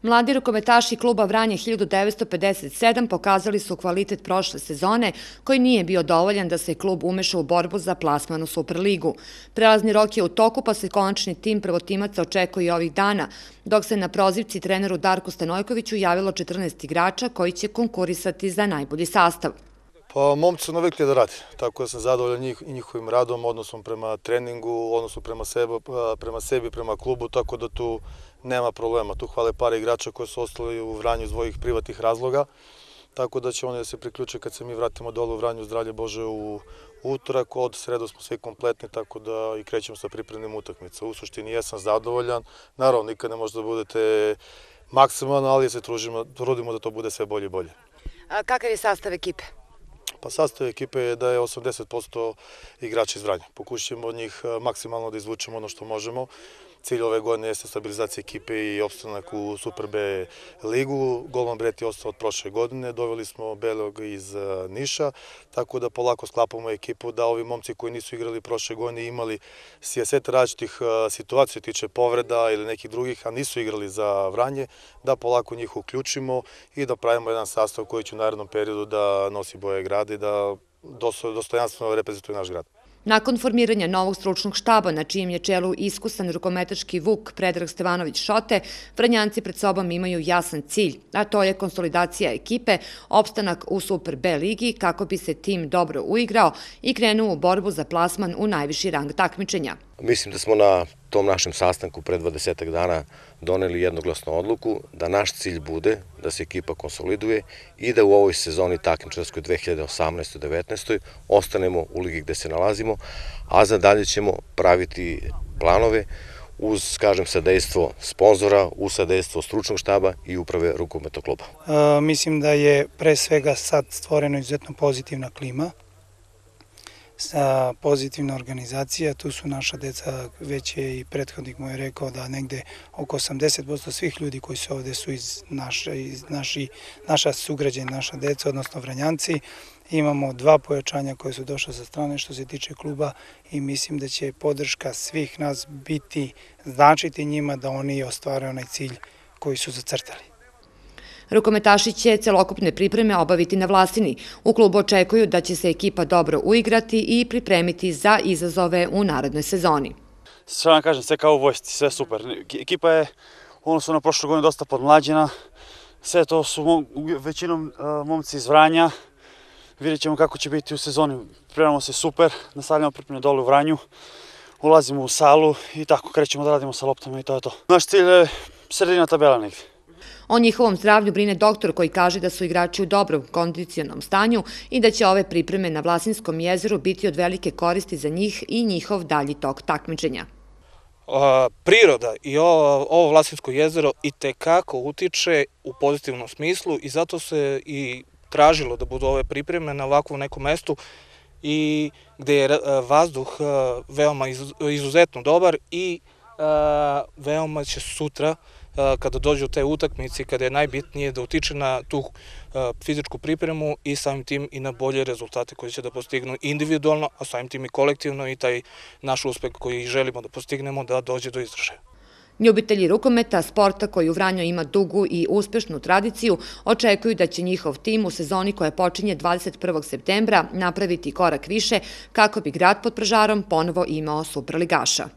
Mladi rukometaši kluba Vranje 1957 pokazali su kvalitet prošle sezone, koji nije bio dovoljan da se klub umeša u borbu za plasman u Superligu. Prelazni rok je u toku, pa se konačni tim prvotimaca očekuje ovih dana, dok se na prozivci treneru Darku Stanojkoviću javilo 14 igrača koji će konkurisati za najbolji sastav. Pa momci su navikli da rade, tako da sam zadovoljan i njihovim radom, odnosom prema treningu, odnosom prema sebi, prema klubu, tako da tu nema problema. Tu hvale par igrača koji su ostali u Vranju iz svojih privatnih razloga, tako da će oni da se priključe kad se mi vratimo dole u Vranju, zdravlje Bože, u utorak. Od sredu smo svi kompletni, tako da i krećemo sa pripremnim utakmica. U suštini jesam zadovoljan, naravno nikad ne možete da budete maksimalno, ali se trudimo da to bude sve bolje i bolje. Kakav je sastav ekipe? Pa sastav ekipe je da je 80% igrača iz Vranja. Pokušamo od njih maksimalno da izvučemo ono što možemo. Cilj ove godine jeste stabilizacija ekipe i opstanak u Super B ligu. Golman Bret je ostao od prošle godine, doveli smo Belog iz Niša, tako da polako sklapamo ekipu da ovi momci koji nisu igrali prošle godine imali set različitih situacija, tiče povreda ili nekih drugih, a nisu igrali za Vranje, da polako njih uključimo i da pravimo jedan sastav koji će u narednom periodu da nosi boje grada i da dostojanstveno reprezentuje naš grad. Nakon formiranja novog stručnog štaba, na čijem je čelu iskusan rukometaški vuk Predrag Stevanović Šote, Vranjanci pred sobom imaju jasan cilj, a to je konsolidacija ekipe, opstanak u Super B ligi kako bi se tim dobro uigrao i krenuo u borbu za plasman u najviši rang takmičenja. Mislim da smo na tom našem sastanku pred 20 dana doneli jednoglasnu odluku da naš cilj bude da se ekipa konsoliduje i da u ovoj sezoni takmičarskoj 2018-19 ostanemo u ligi gde se nalazimo, a za dalje ćemo praviti planove uz, kažem, sadejstvo sponzora, uz sadejstvo stručnog štaba i uprave rukometnog kluba. Mislim da je pre svega sad stvorena izuzetno pozitivna klima, pozitivna organizacija. Tu su naša deca, već je i prethodnik moj rekao da negde oko 80% svih ljudi koji su ovde su naša sugrađana, naša deca, odnosno Vranjanci. Imamo 2 pojačanja koje su došle sa strane što se tiče kluba i mislim da će podrška svih nas značiti njima da oni ostvare onaj cilj koji su zacrtali. Rukometaši će celokupne pripreme obaviti na Vlasini. U klubu očekuju da će se ekipa dobro uigrati i pripremiti za izazove u narednoj sezoni. Sve vam kažem, sve kao u vojsci, sve super. Ekipa je u odnosu na prošlu godinu dosta podmlađena. Sve to su većinom momci iz Vranja. Vidjet ćemo kako će biti u sezoni. Pripremamo se super, nastavljamo pripreme dole u Vranju, ulazimo u salu i tako krećemo da radimo sa loptama i to je to. Naš cilj je sredina tabela negdje. O njihovom zdravlju brine doktor koji kaže da su igrači u dobrom kondicionalnom stanju i da će ove pripreme na Vlasinskom jezeru biti od velike koristi za njih i njihov dalji tok takmičenja. Priroda i ovo Vlasinsko jezero itekako utiče u pozitivnom smislu i zato se i tražilo da budu ove pripreme na ovakvom nekom mestu i gde je vazduh veoma izuzetno dobar i veoma će sutra kada dođu te utakmice i kada je najbitnije da utiče na tu fizičku pripremu i samim tim i na bolje rezultate koje će da postignu individualno, a samim tim i kolektivno i taj naš uspeh koji želimo da postignemo da dođe do izražaja. Ljubitelji rukometa, sporta koji u Vranju ima dugu i uspešnu tradiciju, očekuju da će njihov tim u sezoni koja počinje 21. septembra napraviti korak više kako bi grad pod Pražarom ponovo imao superligaša.